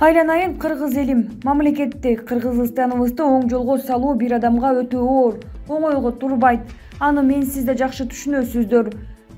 Айланайын кыргыз элим, мамлекеттик Кыргызстаныбызды оң жолго салуу бир адамга өтө оор, оңойго турбайт. Аны мен сиз да жакшы түшүнөсүздөр.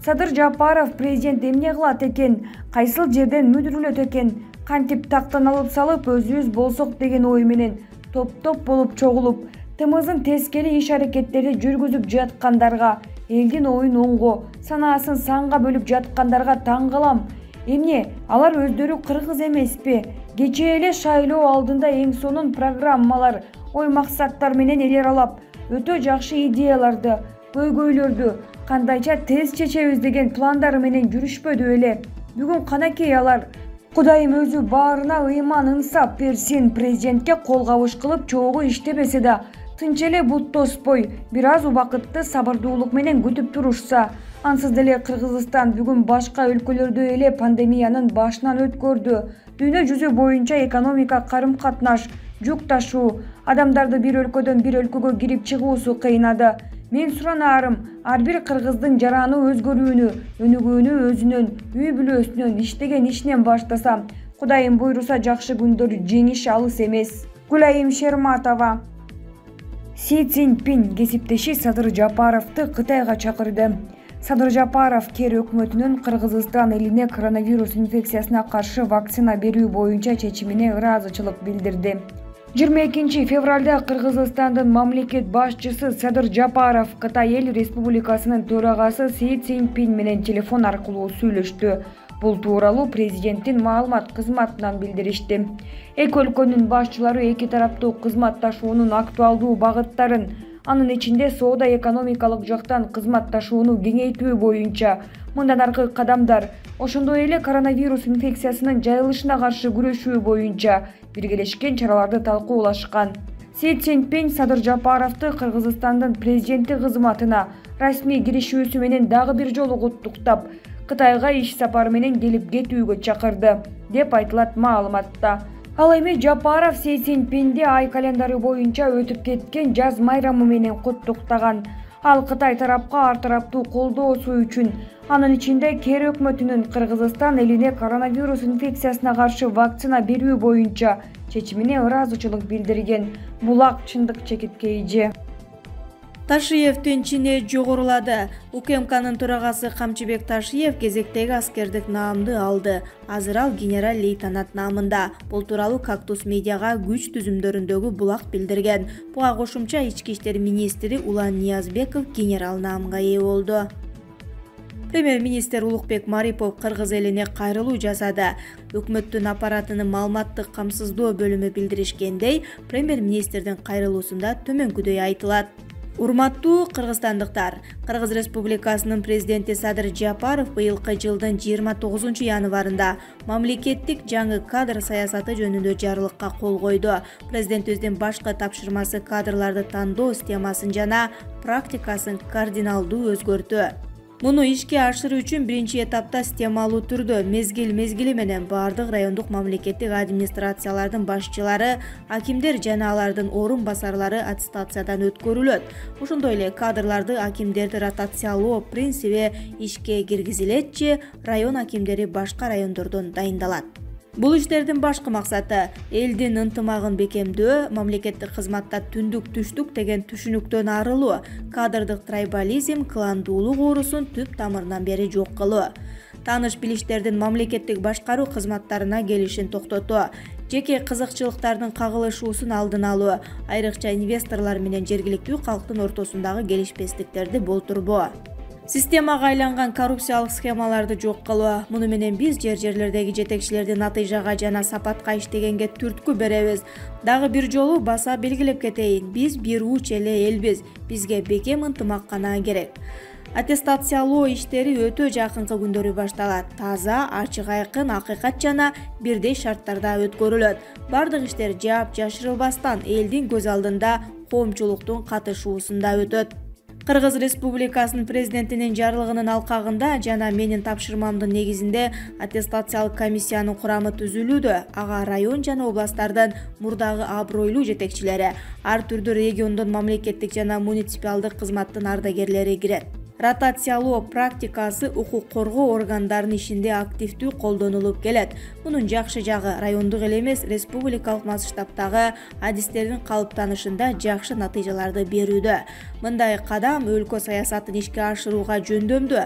Садыр Жапаров президент эмне кылат экен, кайсыл жерден мүдүрүлөт экен, кантип тактан алып салып өзүбүз болсок деген ой менен топ-топ болуп чогулуп, тымызын тескери иш-аракеттерди жүргүзүп жаткандарга, элдин оюн оңго, санаасын санга бөлүп жаткандарга таң калам. Эмне, алар өздөрү кыргыз эмеспи? Кечээ эле шайлоо алдында эң сонун программалар, ой максаттар менен эл аралап, өтө жакшы идеяларды, көйгөйлөрдү кандайча тез чечебиз деген пландары менен жүрүшпөдү беле? Бүгүн канакей алар. Кудайым өзү баарына ыйман ынсап берсин. Президентке кол кабыш кылып чогуу иштебесе да, тынч эле бут тоспой, бир аз убакытты сабырдуулук менен күтүп турушса. Ансыз деле Кыргызстан бүгүн башка өлкөлөрдө эле пандемиянын башынан өткөрдү. Дүйнө жүзү боюнча экономика, карым-катнаш, жүк ташуу, адамдарды бир өлкөдөн бир өлкөгө кирип чыгуусу кыйнады. Мен суранаарым, ар бир кыргыздын жараны өзгөрүүнү, өнүгүүнү өзүнөн, үй бүлөсүнөн, иштеген ишинен баштаса, Кудайым буйруса жакшы күндөр жеңиш алыс эмес. Гүлайым Шерматова. Си Цзиньпин кесиптеши Садыр Жапаровду Кытайга чакырды. Садыр Жапаров кер өкмөтүнүн Кыргызстан элине коронавирус инфекциясына каршы вакцина берүү боюнча чечимине ыраазычылык билдирди. 22 февралда Кыргызстандын мамлекет башчысы Садыр Жапаров Кытай Эл Республикасынын төрагасы Си Цзиньпин менен телефон аркылуу сүйлөштү. Бул тууралуу президенттин маалымат кызматынан билдиришти. Эки өлкөнүн башчылары эки тараптуу кызматташуунун актуалдуу багыттарын, анын ичинде соода-экономикалык жактан кызматташууну кеңейтүү боюнча мындан аркы кадамдар, ошондой эле коронавирус инфекциясынын жайылышына каршы күрөшүү боюнча биргелешкен чараларды талкуулашкан. Си Цзиньпин Садыр Жапаровду Кыргызстандын президенти кызматына расмий киришүүсү менен дагы бир жолу куттуктап, Кытайга иш сапары менен келип кетүүгө чакырды, деп айтылат маалыматта. Ал эми Жапаров Си Цзиньпинди ай календары боюнча өтүп кеткен жаз майрамы менен куттуктаган. Ал Кытай тарапка ар тараптуу колдоосу үчүн, анын ичинде кер өкмөтүнүн Кыргызстан элине коронавирус инфекциясына каршы вакцина берүү боюнча чечимине ыраазычылык билдирген. Булак чындык чекиткейи. Ташиевдин чини жогорулады. УКМКнын төрагасы Камчыбек Ташиев кезектеги аскердик наамды алды. Азыр ал генерал-лейтенант наамында. Бул тууралуу Кактус медиага күч түзүмдөрүндөгү булак билдирген. Буга кошумча ички иштер министри Улан Ниязбеков генерал наамга ээ болду. Премьер-министр Улукбек Марипов кыргыз элине кайрылуу жасады. Өкмөттүн аппаратынын маалыматтык камсыздоо бөлүмү билдиришкендей, премьер-министрдин кайрылуусунда төмөнкүдөй айтылат. Урматтуу кыргызстандыктар, Кыргыз Республикасынын президенти Садыр Жапаров быйылкы жылдын 29 январында мамлекеттик жаңы кадр саясаты жөнүндө жарлыкка кол койду. Президентибиздин башкы тапшырмасы кадрларды тандоо системасын жана практикасын кардиналдуу өзгөртүү. Муну ишке ашыруу үчүн биринчи этапта системалуу түрдө мезгил менен бардык райондук мамлекеттик администрациялардын башчылары, акимдер жана алардын орун басарлары аттестациядан өткөрүлөт. Ошондой эле кадрларды акимдерди ротациялоо принциби ишке киргизилетчи, район акимдери башка райондордон дайындалат. Бул иштердин башкы максаты элдин ынтымагын бекемдөө, мамлекеттик кызматта түндүк түштүк деген түшүнүктөн арылуу, кадрдык трайбализм, кландуулук оорусун түп тамырынан бери жок кылуу. Тааныш билиштердин мамлекеттик башкаруу кызматтарына келишин токтотуу, жеке кызыкчылыктардын кагылышуусун алдын алуу, айрыкча инвесторлор менен жергиликтүү калктын ортосундагы келишпестиктерди болтурбоо. Системага айланган коррупциялык схемаларды жок кылуу. Муну менен биз жерлердеги жетекчилердин натыйжага жана сапатка иштегенге түрткү беребиз. Дагы бир жолу баса белгилеп кетейин, биз бир уч эле элбиз. Бизге бекем ынтымак гана керек. Аттестациялоо иштери өтө жакынкы күндөрү башталат. Таза, ачык айкын, акыйкат жана бирдей шарттарда өткөрүлөт. Бардык иштер жаап жашырылбастан элдин көз алдында коомчулуктун катышуусунда өтөт. Кыргыз Республикасынын президентинин жарлыгынын алкагында жана менин тапшырмамдын негизинде аттестациялык комиссиянын курамы түзүлүүдө. Ага район жана областтардын мурдагы абройлуу жетекчилери, ар түрдүү региондон мамлекеттик жана муниципалдык кызматтын ардагерлери кирет. Ротациялоо практикасы укук коргоо органдарынын ишинде активдүү колдонулуп келет. Мунун жакшы жагы райондук эле эмес, республикалык масштабтагы адистердин калыптанышында жакшы натыйжаларды берүүдө. Мындай кадам өлкө саясатын ишке ашырууга жөндөмдүү,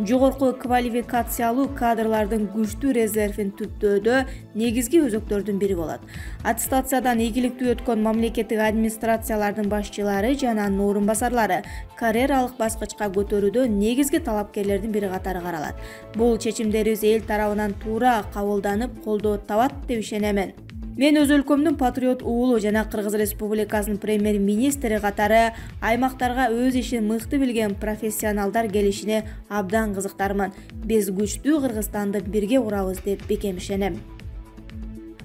жогорку квалификациялуу кадрлардын күчтүү резервин түптөөдө негизги өзөктөрдүн бири болот. Аттестациядан ийгиликтүү өткөн мамлекеттик администрациялардын башчылары жана анын орун басарлары карьералык баскычка көтөрүүдө негизги талапкерлердин бири катары каралат. Бул чечимдерибиз эл тарабынан туура кабылданып, колдоо табат деп ишенемен. Мен өз өлкөмдүн патриот уулу жана Кыргыз Республикасынын премьер-министри катары аймактарга өз ишин мыкты билген профессионалдар келишине абдан кызыктармын. Биз күчтүү Кыргызстанды бирге курабыз деп бекем ишенем.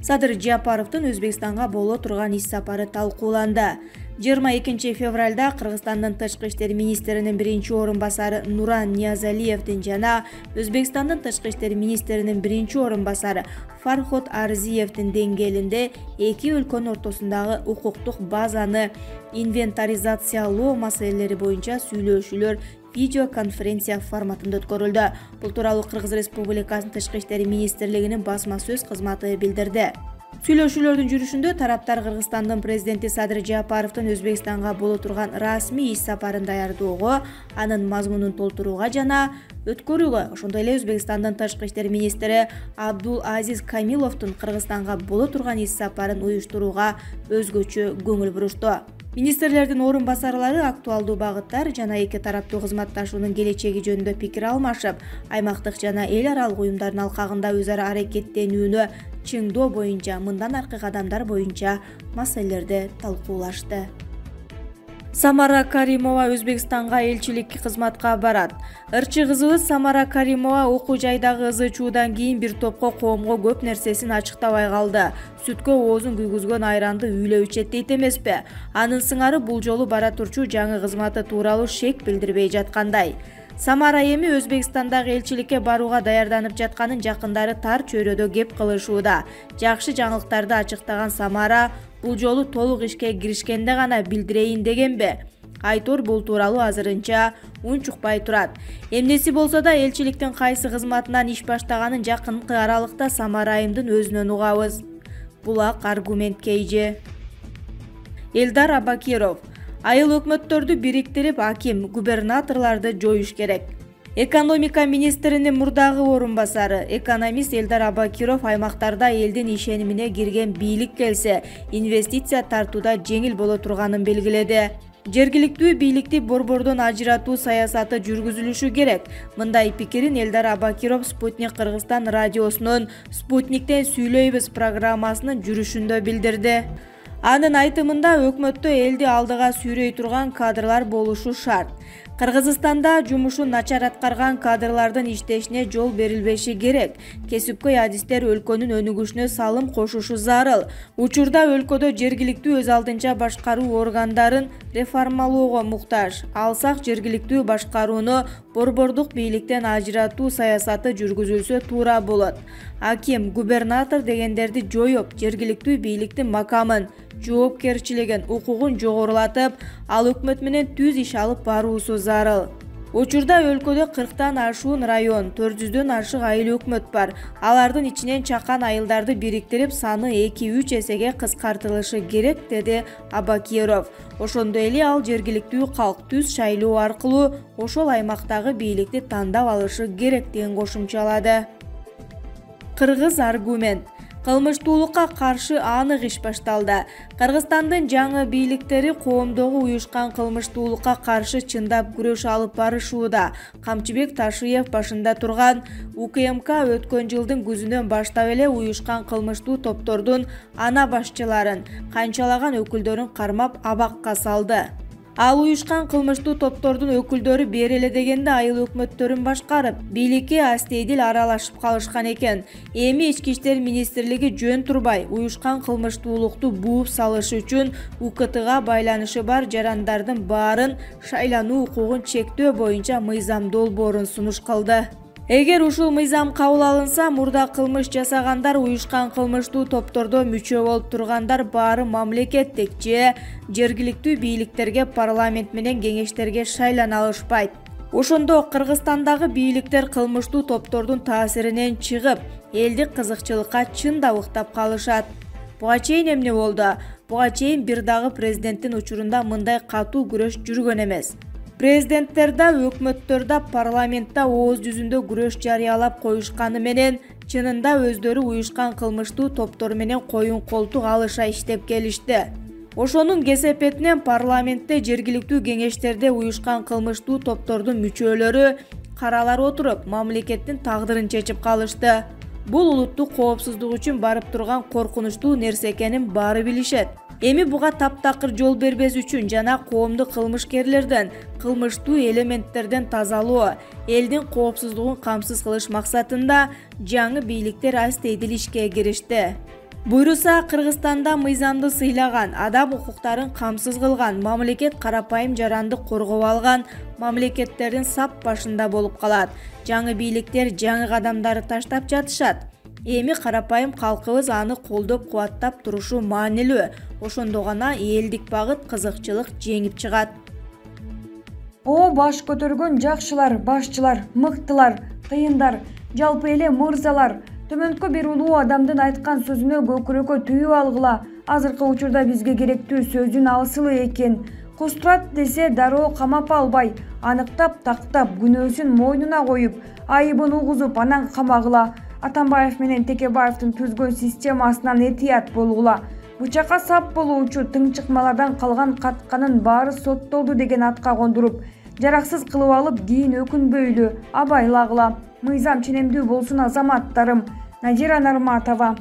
Садыр Жапаровдун Өзбекстанга боло турган иш сапары талкууланды. 22 февралда Кыргызстандын тышкы иштер министринин биринчи орун басары Нуран Ниязалиевдин жана Өзбекстандын тышкы иштер министринин биринчи орун басары Фархот Арзиевдин деңгээлинде эки өлкөнүн ортосундагы укуктук базаны инвентаризациялоо маселелери боюнча сүйлөшүүлөр видеоконференция форматында өткөрүлдү. Бул тууралуу Кыргыз Республикасынын тышкы иштер министрлигинин басма сөз кызматы билдирди. Сүйлөшүүлөрдүн жүрүшүндө тараптар Кыргызстандын президенти Садыр Жапаровдун Өзбекстанга боло турган расмий иш сапарын даярдоого, анын мазмунун толтурууга жана өткөрүүгө, ошондой эле Өзбекстандын тышкы иштер министри Абдул Азиз Камиловдун Кыргызстанга боло турган иш сапарын уюштурууга өзгөчө көңүл бурушту. Министрлердин орун басарлары актуалдуу багыттар жана эки тараптуу кызматташуунун келечеги жөнүндө пикир алмашып, аймактык жана эл аралык уюмдардын алкагында өз ара аракеттенүүнү чыңдоо боюнча, мындан аркы кадамдар боюнча маселелерди талкуулашты. Самара Каримова Өзбекстанга элчиликке кызматка барат. Ырчы кызыбыз Самара Каримова окуу жайдагы ызы-чуудан кийин бир топко коомго көп нерсесин ачыктабай калды. Сүткө оозун күйгүзгөн айранды үйлөп ичет дейт эмеспи? Анын сыңары бул жолу бара турчу жаңы кызматы тууралуу шек билдирбей жаткандай. Самара эми Өзбекстандагы элчиликке барууга даярданып жатканын жакындары тар чөйрөдө кеп кылышууда. Жакшы жаңылыктарды ачыктаган Самара бул жолу толук ишке киришкенде гана билдирейин дегенби? Айтор бул тууралуу азырынча унчукпай турат. Эмнеси болсо да элчиликтин кайсы кызматынан иш баштаганын жакынкы аралыкта Самара айымдын өзүнөн угабыз. Булак аргумент кейжи. Элдар Абакиров: айыл өкмөттөрдү бириктирип, аким, губернаторлорду жоюш керек. Экономика министринин мурдагы орун басары, экономист Элдар Абакиров аймактарда элдин ишенимине кирген бийлик келсе, инвестиция тартууда жеңил боло турганын белгиледи. Жергиликтүү бийликти борбордон ажыратуу саясаты жүргүзүлүшү керек. Мындай пикирин Элдар Абакиров Спутник Кыргызстан радиосунун Спутниктен сүйлөйбүз программасынын жүрүшүндө билдирди. Анын айтымында өкмөттө элди алдыга сүйрөй турган кадрлар болушу шарт. Кыргызстанда жумушун начар аткарган кадрлардын иштешине жол берилбеши керек. Кесипкөй адистер өлкөнүн өнүгүшүнө салым кошушу зарыл. Учурда өлкөдө жергиликтүү өз алдынча башкаруу органдарын реформалоого муктаж. Алсак жергиликтүү башкарууну борбордук бийликтен ажыратуу саясаты жүргүзүлсө туура болот. Аким, губернатор дегендерди жоюп, жергиликтүү бийликтин макамын, жоопкерчилигин, укугун жогорулатып, ал өкмөт менен түз иш алып баруусу зарыл. Учурда өлкөдө 40тан ашуун район, 400дөн ашык айыл өкмөт бар. Алардын ичинен чакан айылдарды бириктирип, саны 2-3 эсеге кыскартылышы керек, деди Абакиров. Ошондой эле ал жергиликтүү калк түз шайлоо аркылуу ошол аймактагы бийликти тандап алышы керек деген кошумчалады. Кыргыз аргумент. Кылмыштуулукка каршы анык иш башталды. Кыргызстандын жаңы бийликтери коомдогу уюшкан кылмыштуулукка каршы чындап күрөш алып барышууда. Камчыбек Ташиев башында турган УКМК өткөн жылдын күзүнөн баштап эле уюшкан кылмыштуу топтордун ана башчыларын, канчалаган өкүлдөрүн кармап абакка салды. Ал уюшкан кылмыштуу топтордун өкүлдөрү бери эле дегенде айыл өкмөттөрүн башкарып, бийликке астейдил аралашып калышкан экен. Эми Ички иштер министрлиги жөн турбай, уюшкан кылмыштуулукту бууп салыш үчүн УКТга байланышы бар жарандардын баарын шайлануу укугун чектөө боюнча мыйзам долбоорун сунуш кылды. Эгер ушул мыйзам кабыл алынса, мурда кылмыш жасагандар, уюшкан кылмыштуу топтордо мүчө болуп тургандар баары мамлекеттик же жергиликтүү бийликтерге, парламент менен кеңештерге шайлана алышпайт. Ошондо Кыргызстандагы бийликтер кылмыштуу топтордун таасиринен чыгып, элдик кызыкчылыкка чын да уктап калышат. Буга чейин эмне болду? Буга чейин бир дагы президенттин учурунда мындай катуу күрөш жүргөн эмес. Президенттер да, өкмөттөр да парламентте ооз жүзүндө күрөш жарыялап коюшканы менен чынында өздөрү уюшкан кылмыштуу топтор менен коюн колтук алыша иштеп келишти. Ошонун кесепетинен парламентте жергиликтүү кеңештерде уюшкан кылмыштуу топтордун мүчөлөрү каралар отуруп, мамлекеттин тагдырын чечип калышты. Бул улуттук коопсуздук үчүн барып турган коркунучтуу нерсе экенин баары билишет. Эми буга таптакыр жол бербес үчүн жана коомду кылмышкерлерден, кылмыштуу элементтерден тазалоо, элдин коопсуздугун камсыз кылыш максатында жаңы бийликтер астейдил ишке киришти. Буйруса, Кыргызстанда мыйзамды сыйлаган, адам укуктарын камсыз кылган, мамлекет карапайым жаранды коргоп алган мамлекеттердин сап башында болуп калат. Жаңы бийликтер жаңы кадамдарды таштап жатышат. Эми карапайым калкыбыз аны колдоп кубаттап турушу маанилүү. Ошондо гана элдик багыт, кызыкчылык жеңип чыгат. Баш көтөргөн жакшылар, башчылар, мыктылар, кыйындар, жалпы эле мырзалар. Төмөнкү бир улуу адамдын айткан сөзүнө көкүрөккө түйүп алгыла. Азыркы учурда бизге керектүү сөздүн асылы экен. Кустурат десе дароо камап албай, аныктап, тактап, күнөөсүн мойнуна коюп, айыбын угузуп, анан камагыла. Атамбаев менен Текебаевдин түзгөн системасынан этият болгула. Бычакка сап болуучу тыңчыкмалардан калган катканын баары соттолду деген атка кондуруп, жараксыз кылып алып, кийин өкүнбөйлү, абайлагыла. Мыйзам ченемдүү болсун азаматтарым. Надира Нарматова.